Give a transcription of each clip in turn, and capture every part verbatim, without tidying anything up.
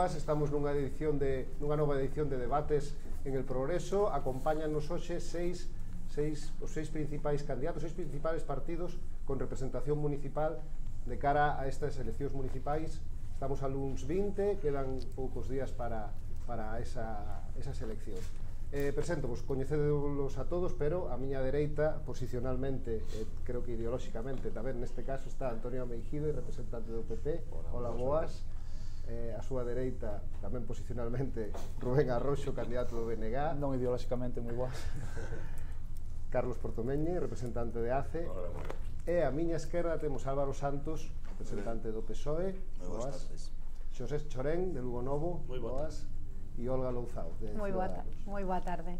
boas, estamos nunha edición de nunha nova edición de debates en el Progreso. Acompáñanos hoxe seis, seis, os seis principais candidatos, seis principais partidos con representación municipal de cara a estas eleccións municipais. Estamos a luns vinte, quedan poucos días para, para esa, esas eleccións. Eh, presento, vos coñecedelos a todos, pero a miña dereita, posicionalmente, eh, creo que ideolóxicamente tamén, neste caso está Antonio Meijido, representante do P P. Hola, boas. Eh, a súa dereita, tamén posicionalmente, Rubén Arroxo, candidato do B N G. Non ideolóxicamente, moi boas. Carlos Portomeñe, representante de A C E. Hola, moi boas. E a miña esquerda temos Álvaro Santos, representante do P S O E. Moi boas tardes. Xosé Chorén, de Lugo Novo. Moi boas. E Olga Louzao, de Moi boa, moi boa tarde.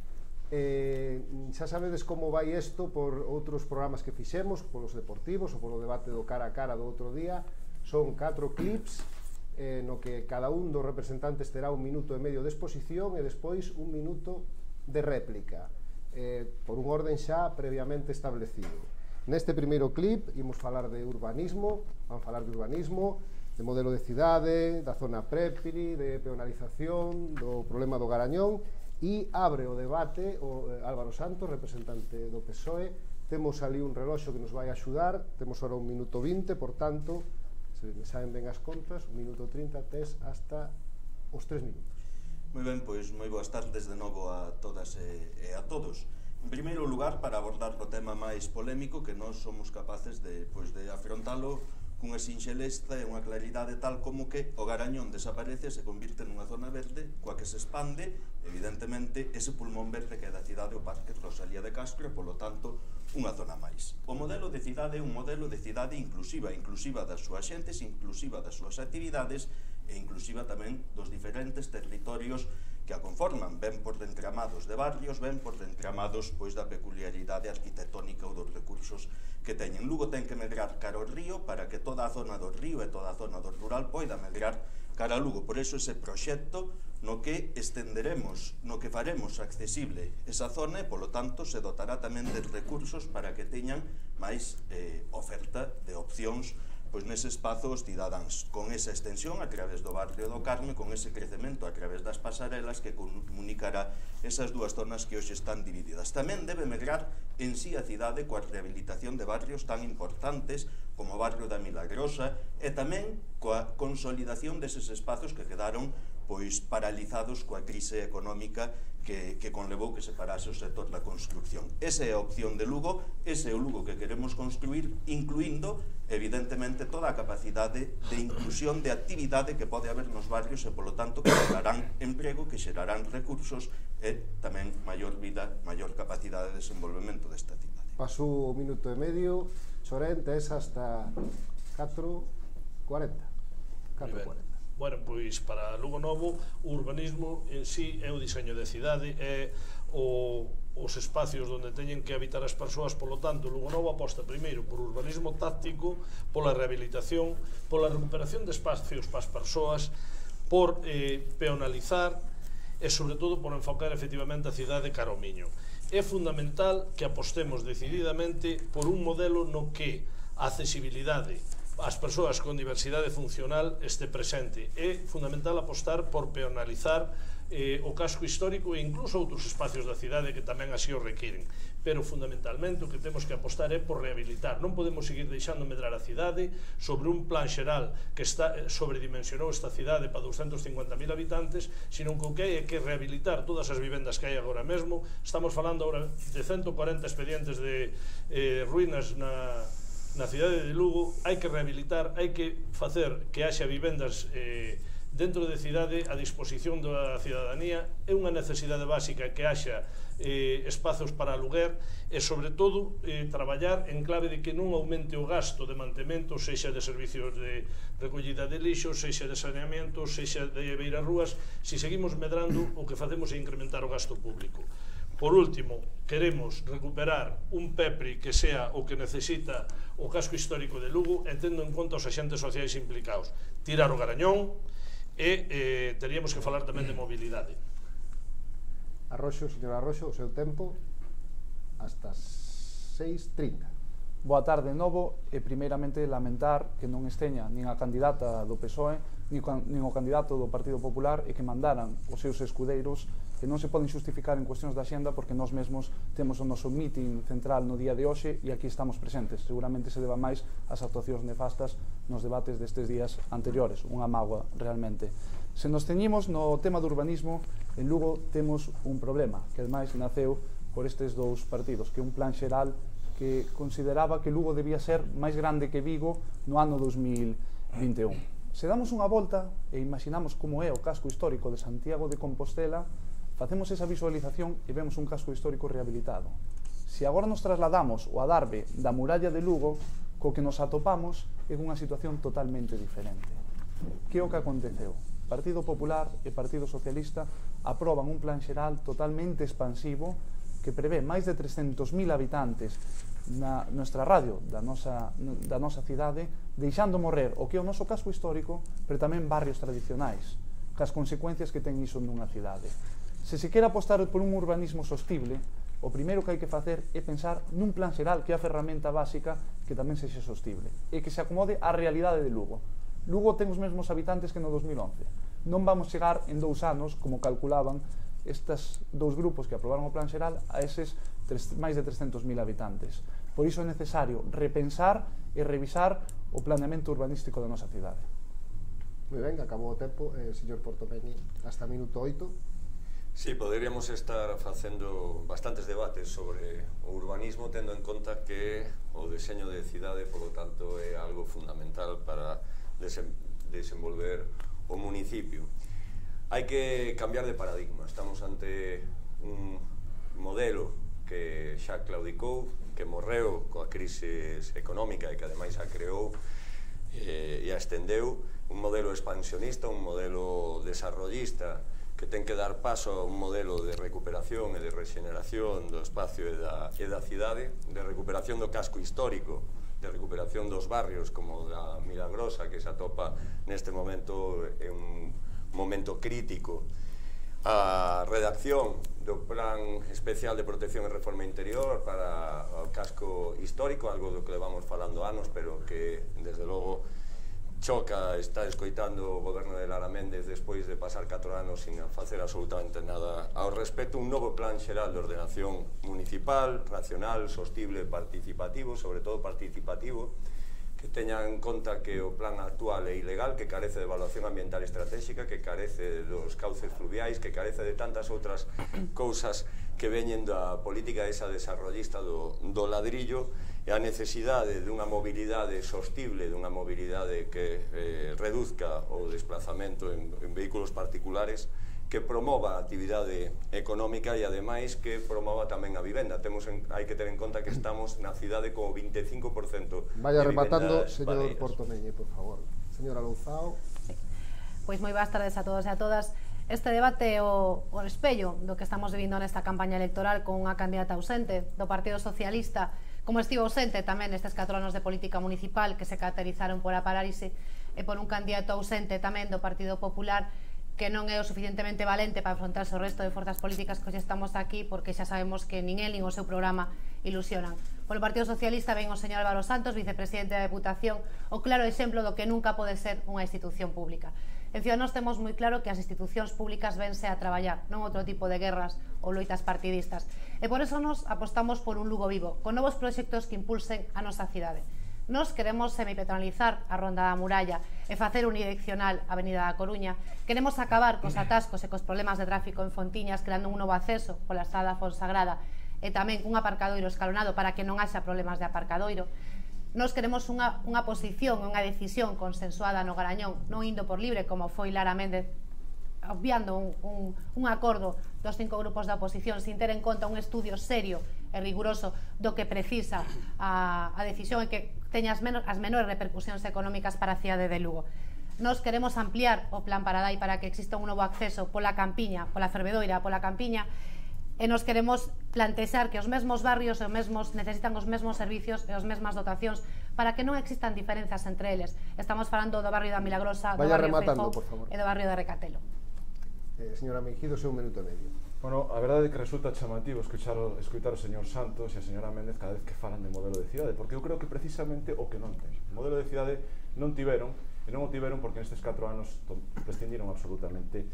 Eh, xa sabedes como vai isto por outros programas que fixemos, polos deportivos ou polo debate do cara a cara do outro día. Son catro clips eh, no que cada un dos representantes terá un minuto e medio de exposición e despois un minuto de réplica, eh, por un orden xa previamente establecido. Neste primeiro clip imos falar de urbanismo, vamos falar de urbanismo, de modelo de cidade, da zona Prépiri, de peonalización, do problema do Garañón, e abre o debate o Álvaro Santos, representante do P S O E. Temos ali un reloxo que nos vai axudar, temos ahora un minuto vinte, por tanto, se me saben ben as contas, un minuto trinta, tes hasta os tres minutos. Moi ben, pois moi boas tardes de novo a todas e, e a todos. En primeiro lugar, para abordar o tema máis polémico que nós somos capaces de, pois, de afrontalo cunha sinxeleza e unha claridade tal como que o Garañón desaparece e se convirte nunha zona verde coa que se expande, evidentemente, ese pulmón verde que é da cidade o Parque Rosalía de Castro e, polo tanto, unha zona máis. O modelo de cidade é un modelo de cidade inclusiva, inclusiva das súas xentes, inclusiva das súas actividades e inclusiva tamén dos diferentes territorios que a conforman, ben por entramados de barrios, ben por entramados pois da peculiaridade arquitectónica ou dos recursos que teñen. Lugo ten que medrar cara ao río para que toda a zona do río e toda a zona do rural poida medrar cara a Lugo. Por eso ese proxecto no que estenderemos, no que faremos accesible esa zona e, polo tanto, se dotará tamén de recursos para que teñan máis eh, oferta de opcións pois nese espazo os cidadáns, con esa extensión a través do barrio do Carme, con ese crecemento a través das pasarelas que comunicará esas dúas zonas que hoxe están divididas. Tamén debe medrar en sí a cidade coa rehabilitación de barrios tan importantes como o barrio da Milagrosa e tamén coa consolidación deses espazos que quedaron pois paralizados coa crise económica que, que conlevou que se parase o sector da construcción. Esa é a opción de Lugo, ese é o Lugo que queremos construir, incluindo, evidentemente, toda a capacidade de inclusión de actividade que pode haber nos barrios e, polo tanto, que xerarán emprego, que xerarán recursos e tamén maior vida, maior capacidade de desenvolvemento desta cidade. Paso un minuto e medio, Chorén, tes hasta catro cuarenta. catro cuarenta. Bueno, pois para Lugo Novo o urbanismo en sí é o diseño de cidade, é o, os espacios onde teñen que habitar as persoas. Polo tanto, Lugo Novo aposta primeiro por urbanismo táctico, pola rehabilitación, pola recuperación de espacios para as persoas, por eh, peonalizar e sobre todo por enfocar efectivamente a cidade cara ao Miño. É fundamental que apostemos decididamente por un modelo no que a accesibilidade as persoas con diversidade funcional este presente. É fundamental apostar por peonalizar eh, o casco histórico e incluso outros espacios da cidade que tamén así o requiren. Pero fundamentalmente o que temos que apostar é por rehabilitar. Non podemos seguir deixando medrar a cidade sobre un plan xeral que está sobredimensionou esta cidade para doscientos cincuenta mil habitantes, sino que o que hai é que rehabilitar todas as vivendas que hai agora mesmo. Estamos falando agora de ciento cuarenta expedientes de eh, ruínas na na cidade de Lugo. Hai que rehabilitar, hai que facer que haxa vivendas eh, dentro de cidade a disposición da cidadanía. É unha necesidade básica que haxa eh, espazos para aluguer e, sobre todo, eh, traballar en clave de que non aumente o gasto de mantemento, sexa de servicios de recollida de lixo, sexa de saneamento, sexa de beirarrúas. Se seguimos medrando, o que facemos é incrementar o gasto público. Por último, queremos recuperar un PEPRI que sea o que necesita o casco histórico de Lugo e tendo en conta os agentes sociais implicados. Tirar o Garañón e eh, teríamos que falar tamén de mobilidade. Arroxo, señor Arroxo, o seu tempo hasta seis trinta. Boa tarde de novo e primeiramente lamentar que non esteña nin a candidata do P S O E nin o candidato do Partido Popular e que mandaran os seus escudeiros que non se poden xustificar en cuestións da xenda porque nós mesmos temos o noso meeting central no día de hoxe e aquí estamos presentes. Seguramente se deba máis ás actuacións nefastas nos debates destes días anteriores, unha mágoa realmente. Se nos teñimos no tema do urbanismo, en Lugo temos un problema que ademais naceu por estes dous partidos, que é un plan xeral que consideraba que Lugo debía ser máis grande que Vigo no ano dos mil vinte e un. Se damos unha volta e imaginamos como é o casco histórico de Santiago de Compostela, facemos esa visualización e vemos un casco histórico rehabilitado. Se agora nos trasladamos ao adarve da muralla de Lugo, co que nos atopamos é unha situación totalmente diferente. Que é o que aconteceu? Partido Popular e Partido Socialista aproban un plan xeral totalmente expansivo que prevé máis de trescentos mil habitantes na nosa radio da nosa, da nosa cidade, deixando morrer o que é o noso casco histórico, pero tamén barrios tradicionais, cas consecuencias que ten iso nunha cidade. Se se quere apostar por un urbanismo sostible, o primeiro que hai que facer é pensar nun plan xeral que é a ferramenta básica que tamén sexa sostible e que se acomode á realidade de Lugo. Lugo ten os mesmos habitantes que no dos mil once. Non vamos chegar en dous anos, como calculaban estes dous grupos que aprobaron o plan xeral, a eses máis de trescentos mil habitantes. Por iso é necesario repensar e revisar o planeamento urbanístico da nosa cidade. Moi ben, acabou o tempo, eh, señor Portomeñi, hasta minuto oito. Sí, poderíamos estar facendo bastantes debates sobre o urbanismo, tendo en conta que o deseño de cidade, por lo tanto, é algo fundamental para desenvolver o municipio. Hai que cambiar de paradigma. Estamos ante un modelo que xa claudicou, que morreu coa crise económica e que ademais a creou e a estendeu, un modelo expansionista, un modelo desarrollista que ten que dar paso a un modelo de recuperación e de rexeneración do espacio e da, e da cidade, de recuperación do casco histórico, de recuperación dos barrios como da Milagrosa, que se atopa neste momento en un momento crítico, a redacción do Plan Especial de Protección e Reforma Interior para o casco histórico, algo do que levamos falando anos, pero que, desde logo, choca está escoitando o goberno de Lara Méndez despois de pasar catro anos sin facer absolutamente nada ao respecto. Un novo plan xeral de ordenación municipal, racional, sostible, participativo, sobre todo participativo, que teña en conta que o plan actual é ilegal, que carece de evaluación ambiental estratégica, que carece dos cauces fluviais, que carece de tantas outras cousas que veñen da política esa desarrollista do, do ladrillo, e a necesidade dunha mobilidade sostible, dunha mobilidade que eh, reduzca o desplazamento en, en vehículos particulares, que promova a actividade económica e ademais que promova tamén a vivenda. Temos en, hai que ter en conta que estamos na cidade con o vinte e cinco por cento Vaya rematando, señor Portomeñi, por favor. Señora Louzao. Sí. Pois moi boas tardes a todos e a todas. Este debate é o, o espello do que estamos vivindo nesta campaña electoral con unha candidata ausente do Partido Socialista, como estivo ausente tamén nestes catro anos de política municipal que se caracterizaron por a parálise, e por un candidato ausente tamén do Partido Popular que non é o suficientemente valente para afrontarse o resto de forzas políticas que hoxe estamos aquí, porque xa sabemos que nin el nin o seu programa ilusionan. Polo Partido Socialista ven o señor Álvaro Santos, vicepresidente da Deputación, o claro exemplo do que nunca pode ser unha institución pública. En Ciudadanos temos moi claro que as institucións públicas vense a traballar, non outro tipo de guerras ou loitas partidistas. E por eso nos apostamos por un Lugo vivo, con novos proxectos que impulsen a nosa cidade. Nos queremos semipeatonalizar a Ronda da Muralla e facer unidireccional a Avenida da Coruña. Queremos acabar cos atascos e cos problemas de tráfico en Fontiñas, creando un novo acceso pola estrada Fonsagrada e tamén un aparcadoiro escalonado para que non haxa problemas de aparcadoiro. Nos queremos unha, unha posición, unha decisión consensuada no Garañón, non indo por libre como foi Lara Méndez, obviando un, un, un acordo dos cinco grupos da oposición sin ter en conta un estudio serio e riguroso do que precisa a, a decisión e que teña as, menos, as menores repercusións económicas para a cidade de Lugo. Nos queremos ampliar o plan Paradai para que exista un novo acceso pola Campiña, pola Fervedoira, pola Campiña, e nos queremos plantexar que os mesmos barrios e os mesmos necesitan os mesmos servicios e as mesmas dotacións para que non existan diferenzas entre eles. Estamos falando do barrio da Milagrosa, do Vaya barrio rematando, Feijó por favor. e do barrio de Recatelo. Eh, señora Meijido, seu un minuto e medio. Bueno, a verdade é que resulta chamativo escuchar o, escutar o señor Santos e a señora Méndez cada vez que falan de modelo de cidade, porque eu creo que precisamente o que non ten. O modelo de cidade non tiveron, e non o tiveron porque nestes catro anos prescindiron absolutamente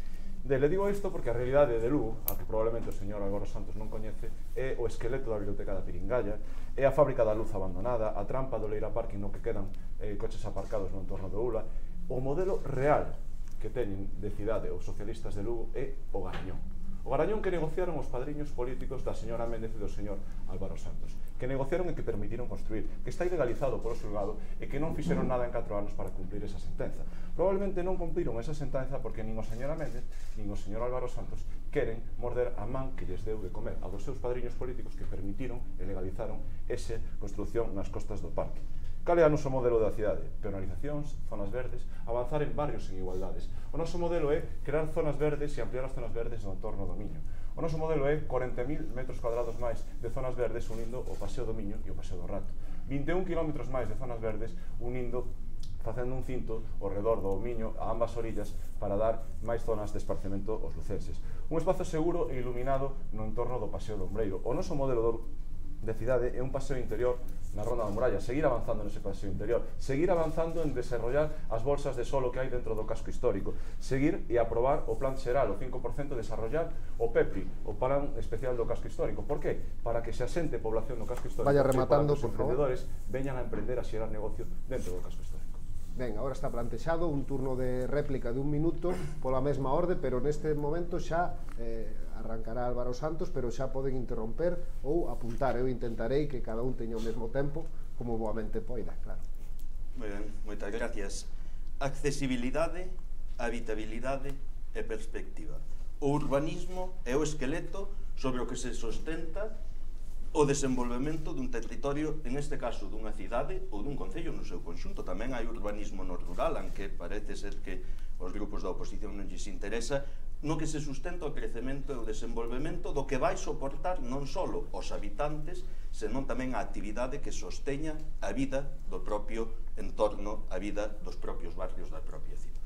dele. Digo isto porque a realidade de Lugo, a que probablemente o señor Álvaro Santos non coñece, é o esqueleto da biblioteca da Piringalla, é a fábrica da luz abandonada, a trampa do Leira Parking no que quedan eh, coches aparcados no entorno do Ula. O modelo real que teñen de cidade os socialistas de Lugo é o Garañón. O Garañón que negociaron os padriños políticos da señora Méndez e do señor Álvaro Santos, que negociaron e que permitiron construir, que está ilegalizado polo xulgado e que non fixeron nada en catro anos para cumplir esa sentenza. Probablemente non cumpliron esa sentenza porque nin o señora Méndez nin o señor Álvaro Santos queren morder a man que lles deu de comer a dos seus padriños políticos que permitiron e legalizaron esa construcción nas costas do parque. Cal é o noso modelo da cidade? Penalizacións, zonas verdes, avanzar en barrios en igualdades. O noso modelo é crear zonas verdes e ampliar as zonas verdes no entorno do Miño. O noso modelo é corenta mil metros cuadrados máis de zonas verdes unindo o Paseo do Miño e o Paseo do Rato. vinte e un kilómetros máis de zonas verdes unindo, facendo un cinto ao redor do Miño a ambas orillas para dar máis zonas de esparcemento aos lucenses. Un espazo seguro e iluminado no entorno do Paseo do Ombreiro. O noso modelo de cidade é un paseo interior na Ronda da Muralla, seguir avanzando nese paseo interior, seguir avanzando en desarrollar as bolsas de solo que hai dentro do casco histórico, seguir e aprobar o plan xeral, o cinco por cento, desarrollar o PEPI, o plan especial do casco histórico. Por que? Para que se asente población no casco histórico. Vaya rematando, por favor. Para que os emprendedores veñan a emprender a xerar negocio dentro do casco histórico. Ben, agora está plantexado un turno de réplica de un minuto pola mesma orde, pero neste momento xa eh, arrancará Álvaro Santos, pero xa poden interromper ou apuntar. Eu intentarei que cada un teña o mesmo tempo, como boamente poida, claro. Moi ben, moitas gracias. Accesibilidade, habitabilidade e perspectiva. O urbanismo é o esqueleto sobre o que se sustenta o desenvolvemento dun territorio, en este caso dunha cidade ou dun concello no seu conxunto. Tamén hai urbanismo no rural, aunque parece ser que os grupos da oposición non lles interesa, no que se sustenta o crecemento e o desenvolvemento do que vai soportar non só os habitantes, senón tamén a actividade que sosteña a vida do propio entorno, a vida dos propios barrios da propia cidade.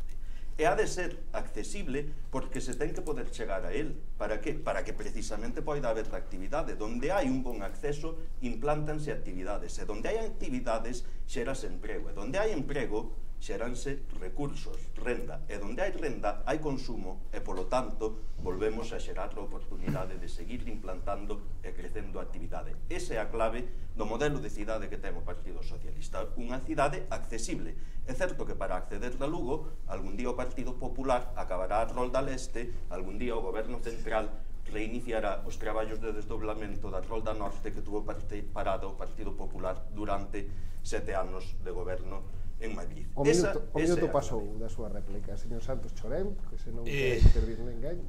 E ha de ser accesible porque se ten que poder chegar a él. Para que? Para que precisamente poida haber actividade. Donde hai un bon acceso, implántanse actividades. E donde hai actividades, xerase emprego. E donde hai emprego, xeranse recursos, renda. E donde hai renda, hai consumo. E, polo tanto, volvemos a xerar a oportunidade de seguir implantando e crecendo a actividade. Esa é a clave do modelo de cidade que ten o Partido Socialista. Unha cidade accesible. É certo que para acceder a Lugo, algún día o Partido Popular acabará a Rolda Leste, algún día o Goberno Central reiniciará os traballos de desdoblamento da Rolda Norte que tuvo parada o Partido Popular durante sete anos de goberno en Madrid. O minuto, esa, o minuto pasou da súa réplica, señor Santos Chorén, que se non eh... quere intervir ninguén.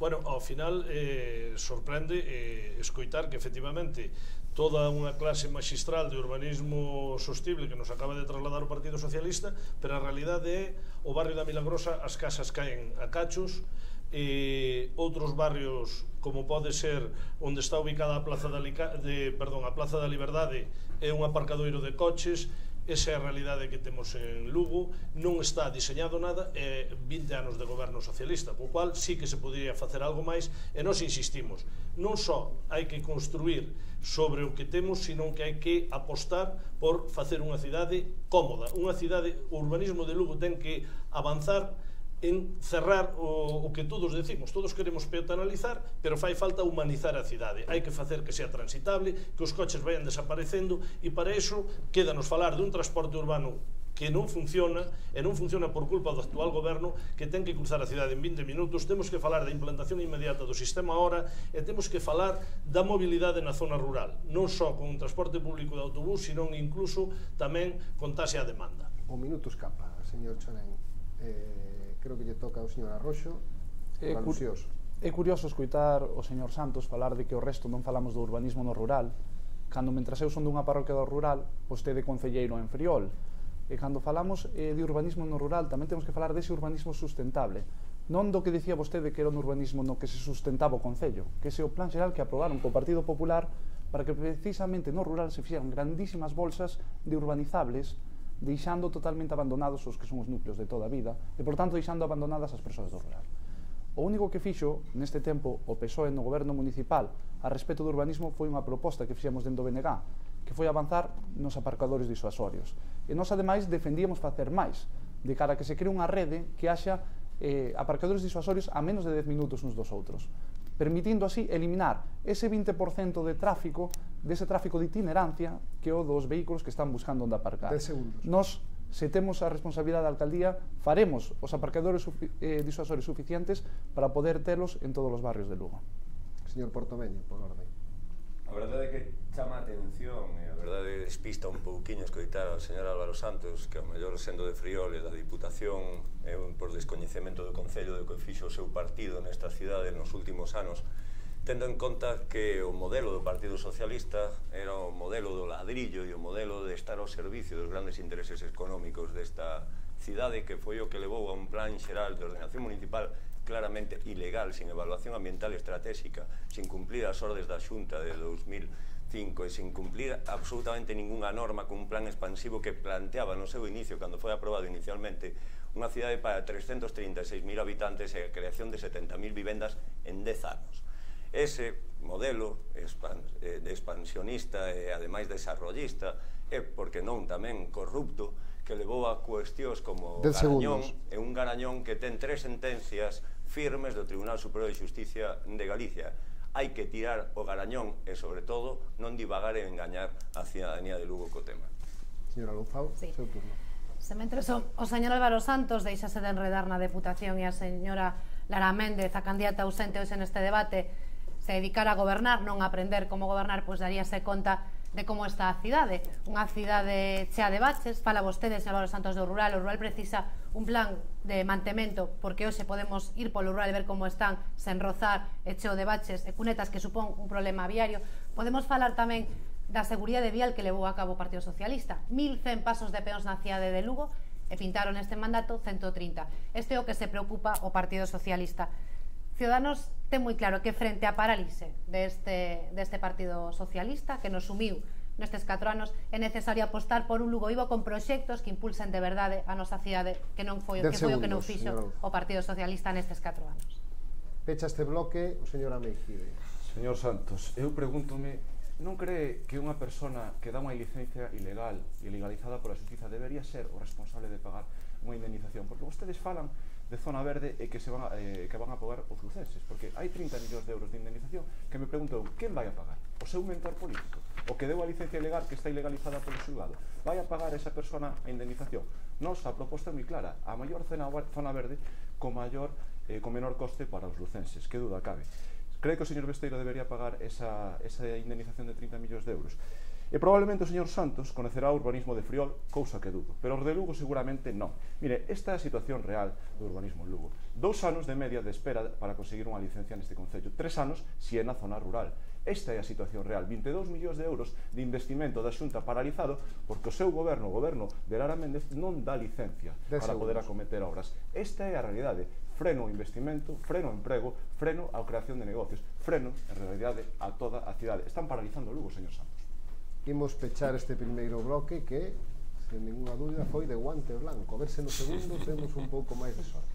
Bueno, ao final eh, sorprende eh, escoitar que efectivamente toda unha clase magistral de urbanismo sostible que nos acaba de trasladar o Partido Socialista, pero a realidade é o barrio da Milagrosa, as casas caen a cachos, e outros barrios como pode ser onde está ubicada a Plaza da, Lica, de, perdón, a Plaza da Liberdade, é un aparcadoiro de coches. Esa é a realidade que temos en Lugo, non está diseñado nada, e vinte anos de goberno socialista, co cual sí que se podría facer algo máis, e nós insistimos, non só hai que construir sobre o que temos, sino que hai que apostar por facer unha cidade cómoda, unha cidade, o urbanismo de Lugo ten que avanzar en cerrar o, o que todos decimos. Todos queremos peatonalizar, pero fai falta humanizar a cidade. Hai que facer que sea transitable, que os coches vayan desaparecendo, e para iso quédanos falar dun transporte urbano que non funciona, e non funciona por culpa do actual goberno, que ten que cruzar a cidade en vinte minutos. Temos que falar da implantación inmediata do sistema Hora, e temos que falar da mobilidade na zona rural, non só con un transporte público de autobús, sino incluso tamén con taxa a demanda. O minuto escapa, señor Chorén. Eh... Creo que lle toca ao señor Arroxo, é, alusioso. É curioso escoitar o señor Santos falar de que o resto non falamos do urbanismo no rural, cando mentras eu son dunha parroquia do rural, vostede concelleiro en Friol. E cando falamos eh, de urbanismo no rural, tamén temos que falar dese urbanismo sustentable. Non do que dicía vostede que era un urbanismo no que se sustentaba o Concello, que ese é o plan xeral que aprobaron co Partido Popular para que precisamente no rural se fixeran grandísimas bolsas de urbanizables, deixando totalmente abandonados os que son os núcleos de toda a vida e, por tanto, deixando abandonadas as persoas do rural. O único que fixo neste tempo o P S O E no goberno municipal a respecto do urbanismo foi unha proposta que fixemos dentro do B N G, que foi avanzar nos aparcadores disuasorios. E nós, ademais, defendíamos facer máis, de cara a que se cree unha rede que haxa eh, aparcadores disuasorios a menos de dez minutos uns dos outros, permitindo así eliminar ese vinte por cento de tráfico, dese tráfico de itinerancia, que é o dos vehículos que están buscando onde aparcar. dez segundos. Nos, se temos a responsabilidade da alcaldía, faremos os aparcadores eh, disuasorios suficientes para poder telos en todos os barrios de Lugo. Señor Portomeño, por orden. A verdade é que chama a atención e a verdade despista un pouquiño escoitar ao señor Álvaro Santos, que ao mellor sendo de Friol e da Diputación é un por descoñecemento do Concello do que fixo o seu partido nesta cidade nos últimos anos, tendo en conta que o modelo do Partido Socialista era o modelo do ladrillo e o modelo de estar ao servicio dos grandes intereses económicos desta cidade, que foi o que levou a un plan xeral de ordenación municipal claramente ilegal, sin evaluación ambiental estratégica, sin cumplir as ordes da Xunta de dos mil cinco e sin cumplir absolutamente ninguna norma con un plan expansivo que planteaba no seu inicio, cando foi aprobado inicialmente, unha cidade para trescentos trinta e seis mil habitantes e a creación de setenta mil vivendas en dez anos. Ese modelo expansionista e ademais desarrollista é, porque non, tamén corrupto, que levou a cuestións como Garañón, e un Garañón que ten tres sentencias firmes do Tribunal Superior de Xusticia de Galicia. Hai que tirar o Garañón e, sobre todo, non divagar e engañar a cidadanía de Lugo co tema. Señora Louzao, sí. seu turno. Se mentres o, o señor Álvaro Santos deixase de enredar na Deputación e a señora Lara Méndez, a candidata ausente hoxe neste debate, se dedicara a gobernar, non a aprender como gobernar, pois daríase conta de como está a cidade. Unha cidade chea de baches, fala vostede, señor Álvaro Santos, do rural. O rural precisa un plan de mantemento, porque hoxe podemos ir polo rural e ver como están sen rozar e cheo de baches e cunetas, que supón un problema viario. Podemos falar tamén da seguridade vial que levou a cabo o Partido Socialista. mil cen pasos de peóns na cidade de Lugo e pintaron neste mandato ciento trinta. Este é o que se preocupa o Partido Socialista. Ciudadanos ten moi claro que frente á parálise deste, deste Partido Socialista, que nos sumiu nestes catro anos, é necesario apostar por un Lugo vivo con proxectos que impulsen de verdade a nosa cidade, que non foi, que foi o que non fixo o Partido Socialista nestes catro anos. Pecha este bloque o señor Ameijide. Señor Santos, eu pregúntome, non cree que unha persona que dá unha licencia ilegal e ilegalizada pola xustiza debería ser o responsable de pagar unha indemnización? Porque vostedes falan de zona verde e que se van a, eh, que van a pagar os lucenses, porque hai trinta millóns de euros de indemnización que me pregunto, quen vai a pagar? O seu mentor político? O que deu a licencia ilegal que está ilegalizada polo xulgado? Vai a pagar esa persona a indemnización? Nos, a proposta é moi clara, a maior zona verde co maior, eh, con menor coste para os lucenses, que duda cabe. Cree que o señor Besteiro debería pagar esa, esa indemnización de trinta millóns de euros? E probablemente o señor Santos conocerá o urbanismo de Friol, cousa que dudo, pero os de Lugo seguramente non. Mire, esta é a situación real do urbanismo en Lugo. Dous anos de media de espera para conseguir unha licencia neste concello. Tres anos si é na zona rural. Esta é a situación real. vinte e dous millóns de euros de investimento da Xunta paralizado porque o seu goberno, o goberno de Lara Méndez, non dá licencia para poder acometer obras. Esta é a realidade. Freno o investimento, freno o emprego, freno a creación de negocios, freno, en realidade, a toda a cidade. Están paralizando Lugo, señor Santos. Imos pechar este primeiro bloque que, sen ninguna dúbida, foi de guante blanco. A ver se no segundo temos un pouco máis de sorte.